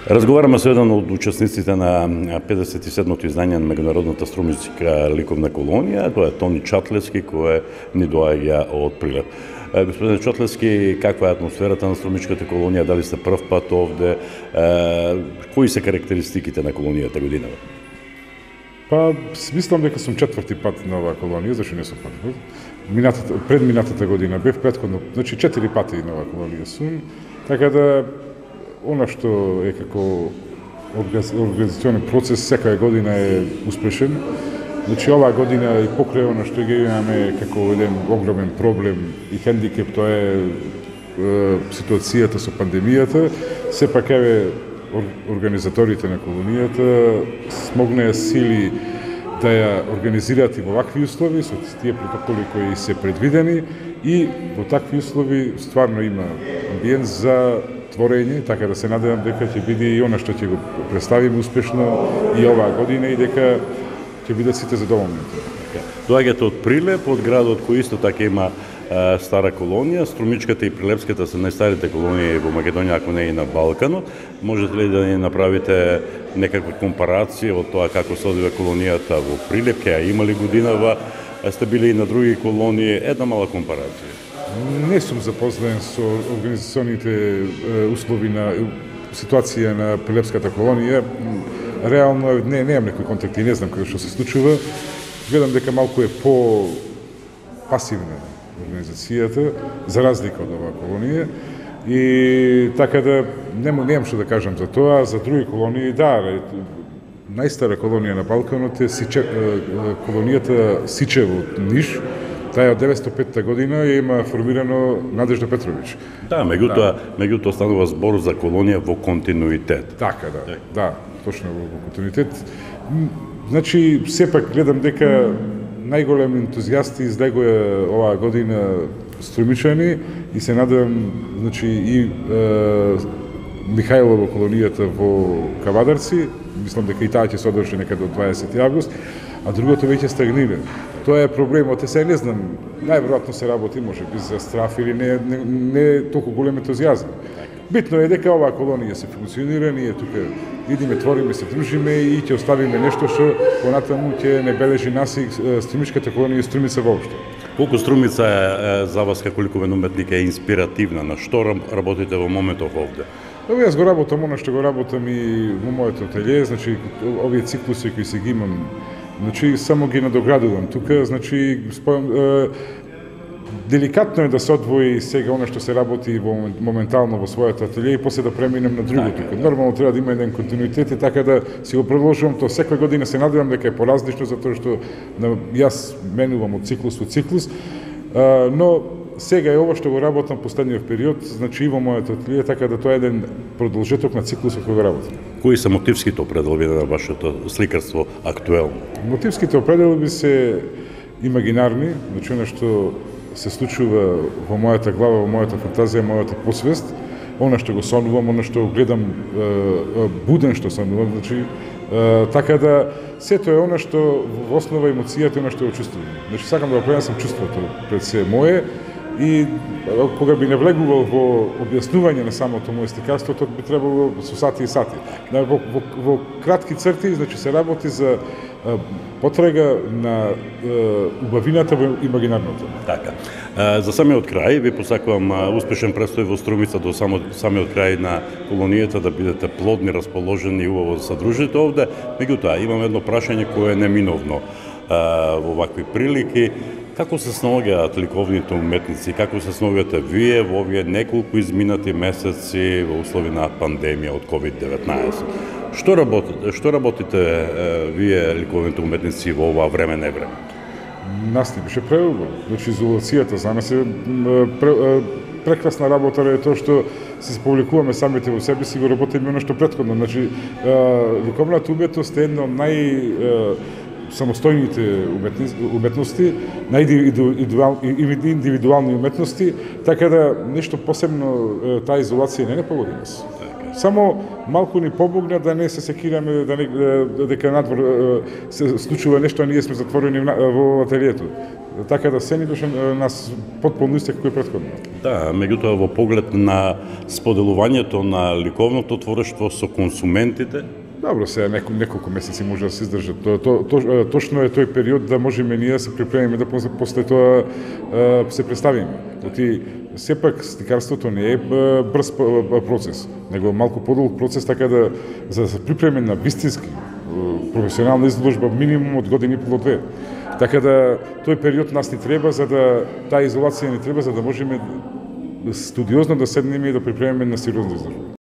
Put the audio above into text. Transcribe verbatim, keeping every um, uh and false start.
Разговараме со еден од учесниците на педесет и седмото издание на меѓународната струмичка ликовна колонија, тоа е Тони Чатлевски, кој ни доаѓа од Прилеп. Господин Чатлевски, каква е атмосферата на струмичката колонија? Дали сте прв пат овде? Кои се карактеристиките на колонијата годинава? Па, мислам дека сум четврти пат на оваа колонија, зашто не сум прв. Минатата, пред минатата година бев претходно, значи четири пати на оваа колонија сум, така да она што е како организационен процес секоја година е успешен. Значи оваа година и покрај она што ги имаме како еден огромен проблем и хендикеп, тоа е, е ситуацијата со пандемијата, сепак еве организаторите на колонијата смогнаа сили да ја организираат и во вакви услови, со тие протоколи кои се предвидени, и во такви услови стварно има амбиент за творење, така да се надевам дека ќе биде и она што ќе го представиме успешно и оваа година и дека ќе бидат сите задоволни. Доаѓате од Прилеп, од градот кој исто така има а, стара колонија. Струмичката и Прилепската се најстарите колонии во Македонија, ако не и на Балканот. Можете ли да ни направите некаква компарација од тоа како се одвива колонијата во Прилеп, ќе ја имали годинава, сте били и на други колонии, една мала компарација? Не сум запознаен со организационите услови на ситуација на Прилепската колонија. Реално не немам некои контакти, не знам како што се случува. Гледам дека малку е по пасивна организацијата за разлика од оваа колонија. И така да нема немам што да кажам за тоа, за други колонии да, најстара колонија на Балканот е Сиче, колонијата Сичево од Ниш. Таа од деветстотини и петта година ја има формирано Надежда Петровиќ. Да, меѓутоа, да. меѓутоа станува збор за колонија во континуитет. Така, да, да, да, точно во континуитет. Значи, сепак гледам дека најголем ентузијасти излегоа оваа година струмичани и се надевам, значи, и е, Михајло во колонијата во Кавадарци, мислам дека и таа ќе се одржи некаде до дваесети август, а другото веќе стагнира. Тоа е проблемот, е сега не знам, најверојатно се работи, може би за страф или не, не, не е толку голем ентузијазм. Битно е дека оваа колонија се функционира, ние тука идиме, твориме, се дружиме и ќе оставиме нешто што понатаму ќе не бележи нас и струмичката колонија и Струмица воопшто. Колку Струмица е за вас како ликовен уметник е инспиративна? На што работите во моментов овде? Ово јас го работам она што го работам и во моето ателје, значи овие циклуси кои се ги имам, значи само ги надоградувам тука, значи спојам, е, деликатно е да се одвои сега она што се работи во, моментално во своето ателје и после да преминем на друго тука. Нормално треба да има еден континуитет и така да си го продолжувам тоа секоја година, се надевам дека е поразлично затоа што на, јас менувам од циклус во циклус, а, но сега е ова што го работам последниот период, значи и во моето ателје, така да тоа е еден продолжеток на циклусот кој го работам. Кои се мотивските определби на вашето сликарство актуелно? Мотивските определби се имагинарни, значи она што се случува во мојата глава, во мојата фантазија, мојата посвест, она што го сонувам, она што гледам е, буден што сонувам, значи е, така да сето е она што во основа емоцијата, она што го чувствувам. Значи сакам да го пренесам чувството пред се мое и кога би навлегувал во објаснување на самото моје сликарство, тоа би требало со сати и сати. Во, во, во кратки црти, значи се работи за потрага на е, убавината во имагинарното. Така. За самиот крај ви посакувам успешен престој во Струмица до само, самиот крај на колонијата, да бидете плодни, расположени и убаво да се дружите овде. Меѓутоа, имам едно прашање кое е неминовно во вакви прилики. Како се снаоѓаат ликовните уметници, како се снаоѓате вие во овие неколку изминати месеци во услови на пандемија од ковид деветнаесет? Што работите, што работите е, вие ликовните уметници во ова време не време? Нас ни беше преубаво. Значи изолацијата за нас е пре, прекрасна работа е тоа што се публикуваме самите во себе си, го работиме она што претходно. Значи ликовната уметност е една од нај самостојните уметности, најиндивидуални уметности, така да нешто посебно таа изолација не не погоди нас. Само малку ни помогна да не се секираме, да не, дека надвор се случува нешто, а ние сме затворени во ателието. така да се ни беше нас потполно исти како и претходно. Да, меѓутоа во поглед на споделувањето на ликовното творештво со консументите, Добро, сега неко, неколку месеци може да се издржат. То, то, то, точно е тој период да можеме ние да се припремиме да после тоа се представиме. Оти сепак сликарството не е брз процес, него малку подолг процес, така да за да се припреме на вистински професионална изложба минимум од година и пол до две. Така да тој период нас ни треба за да таа изолација ни треба за да можеме студиозно да седнеме и да припремиме на сериозна изложба.